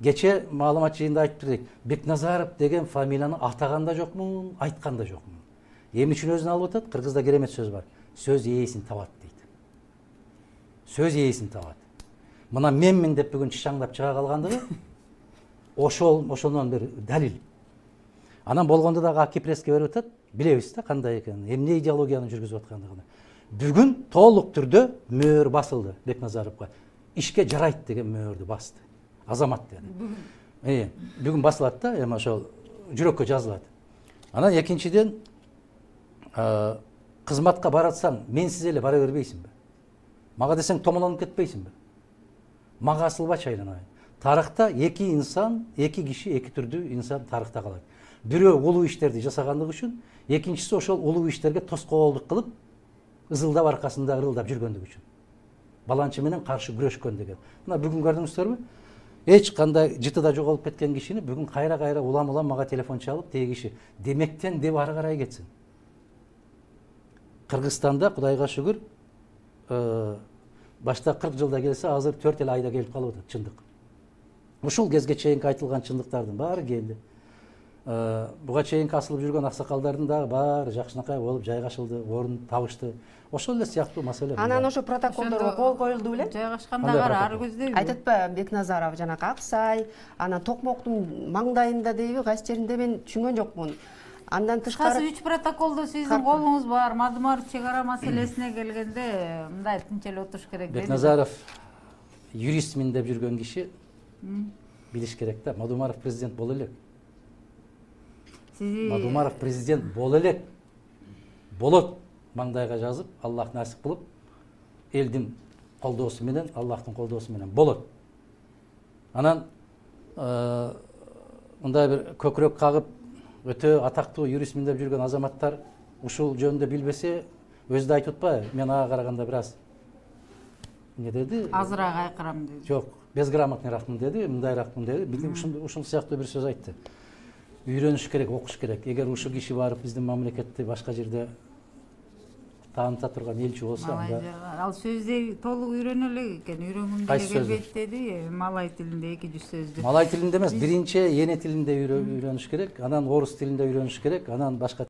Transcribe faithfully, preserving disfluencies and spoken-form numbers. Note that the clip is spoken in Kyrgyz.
кечээ маалымат жыйында айтып бердик. Бекназаров деген фамилияны атаган да жокмун, айткан да жокмун. Эмне үчүн өзүн алып атат? Кыргызда керемет сөз бар. Сөз ээсин табат дейт. Сөз ээсин табат. Мына менмин деп бүгүн чычаңдап чыга калгандыгы ошол ошондон бир далил. Анан болгондо дагы Аки пресске берип атат. Билебиз да кандай экенин, эмне идеологияны жүргүзүп аткандыгын. Бүгүн толук түрдө мөөр басылды Бекназаровго. Ишке жарайт деген мөөрдү басты. Азамат деди. Э, бүгүн басылат да, эми ошол жүрөккө жазылат. Анан экинчиден кызматка баратсаң, менсиз эле бара бербейсиңби? Мага десең томолонуп кетпейсиңби? Мага асылбачы айланайын. Тарыхта эки инсан, эки киши, эки түрдүү инсан тарыхта калат. Бирөө улуу иштерди жасагандыгы үчүн, экинчиси ошол улуу иштерге тоскоолдук кылып, ызылдап аркасында ырылдап жүргөндүгү үчүн. Баланчы менен каршы күрөшкөн деген. Мына бүгүн көрдүңүздөрбү? Эч кандай жытыда жоголуп кеткен кишини бүгүн кайра-кайра улам-улам мага телефон чалып, теги киши демектен деп ары карай кетсин. Кыргызстанда Кудайга шүгүр, башта кырк жылда келсе, азыр төрт эле айда келип калып атат чындык. Ушул кезге чейинки айтылган чындыктардын баары келди. Буга чейинки асылып жүргөн аксакалдардын дагы баары жакшынакай болуп жайгашылды, орун табышты. Ошол эле сыяктуу маселе. Анан ошо протоколдорго кол коюлду беле? Жайгашкандагы ар көздөйбү? Айтатпайбы Бекназаров жанакы Аксай, анан Токмоктун маңдайында дейби, кайсы жеринде мен түшүнгөн жокмун. Андан тышкары үч протоколдо сиздин колуңуз бар. Мадумаров чек ара маселесине келгенде мындай тынч эле отуруш керек дейт. Бекназаров юристмин деп жүргөн киши билиш керек да. Мадумаров президент боло элек. Мадумаров президент боло элек. Болот маңдайга жазып, Аллах насип кылып, элдин колдоосу менен, Аллахтын колдоосу менен болот. Анан мындай бир көкүрөк кагып, өтө атактуу юристмин деп жүргөн азаматтар ушул жөнүндө билбесе, өзү да айтып атпайбы? Мен ага караганда бир аз эмне деди? Азыраак айкырам деди. Жок, безграмотныйракмын деди, мындайракмын деди. Ушул сыяктуу бир сөз айтты. Үйрөнүш керек, окуш керек. Эгер ушул киши барып биздин мамлекетти башка жерде тааныта турган элчи болсо, анда ал сөздү толук үйрөнө элек экен. Үйрөнгүм деле келбейт деди. Малай тилинде эки жүз сөздү. Малай тилинде эмес, биринчи эне тилинде үйрөнүш керек, анан орус тилинде үйрөнүш керек, анан башка